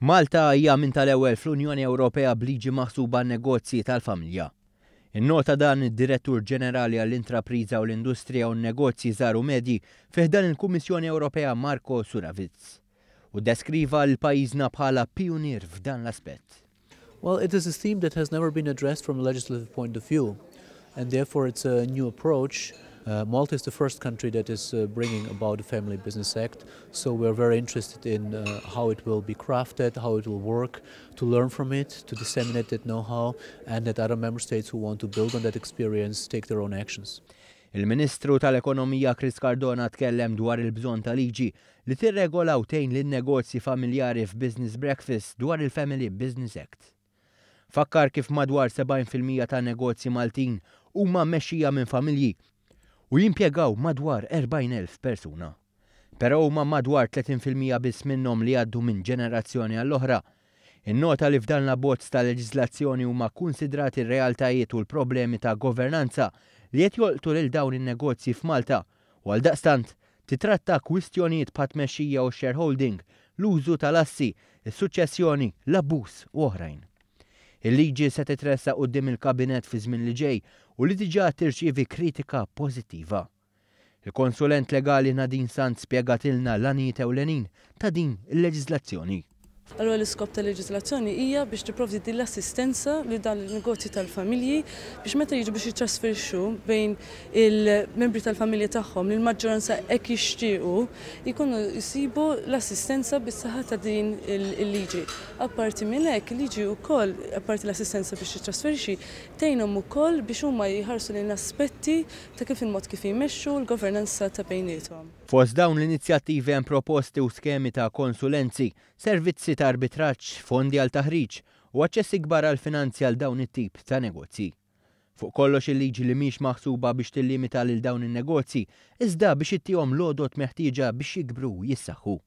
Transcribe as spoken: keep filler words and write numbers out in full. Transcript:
Malta hija minn tal-ewwel fl-Unjoni Ewropea b'liġi maħsuba negozji tal-familja. Innota dan id-Direttur Ġenerali għall-Intrapriża u l-Industrija u n-Negozji Żgħar u Medji fi ħdan il-Kummissjoni Ewropea Marko Suravits. U deskriva lil pajjiżna bħala pionier f'dan l-aspett. Well, it is a theme that has never been addressed from a legislative point of view, and therefore it's a new approach. Uh, Malta is the first country that is uh, bringing about the Family Business Act, so we're very interested in uh, how it will be crafted, how it will work, to learn from it, to disseminate that know-how, and that other member states who want to build on that experience take their own actions. Il-Ministru tal-Ekonomija Chris Cardona tkellem dwar il-bżonn ta' liġi li tirregola u tgħin lin-negozji familjari f'Business Breakfast dwar il-Family Business Act. Fakkar kif madwar sebgħin fil-mija ta' negozji Maltin huma mmexxija minn familji u jimpjegaw madwar erbgħin elf persuna. Però huma madwar tletin fil-mija biss minnhom li għaddu minn ġenerazzjoni għall-oħra. Innota li f'dan l-abbozz ta' leġiżlazzjoni huma konsidrati r-realtajiet u l-problemi ta' governanza li qed jolqtu lil dawn in-negozji f'Malta u għaldaqstant titratta kwistjonijiet bħat tmexxija u shareholding, l-użu tal-assi, is-suċċessjoni, l-abbuż u oħrajn. Il-liġi se titressaq quddiem il-kabinet fi żmien li ġej u li diġà tirċievi kritika pożittiva. Il-konsulent legali Nadine Sant spjegatilna l-għanijiet ewlenin ta' din il-leġiżlazzjoni. Allura l-iskop tal-leġiżlazzjoni hija biex tipprovdi din l-assistenza li dan il-negozji tal-familji biex meta jiġu biex jitrasferixxu bejn il-membri tal-familja tagħhom li l-maġġoranza hekk jixtiequ jkunu jsibu l-assistenza bis-saħħa ta' din il-liġi. Apparti minn hekk, il-liġi wkoll, apparti l-assistenza biex jitrasferixxi, tgħinhom ukoll biex huma jħarsu lejn aspetti ta' kif il-mod kif jmexxu l-governanza ta' bejniethom. Fost dawn l-inizjattivi hemm proposti u skemi ta' konsulenzi, servizzi ta' arbitraġġ, fondi għal taħriġ u aċċess ikbar għal finanzi għal dawn it-tip ta' negozji. Fuq kollox, il-liġi li mhix maħsuba biex tillimita lil dawn in-negozji, iżda biex ittihom l-għodod meħtieġa biex jikbru u jissaħħu.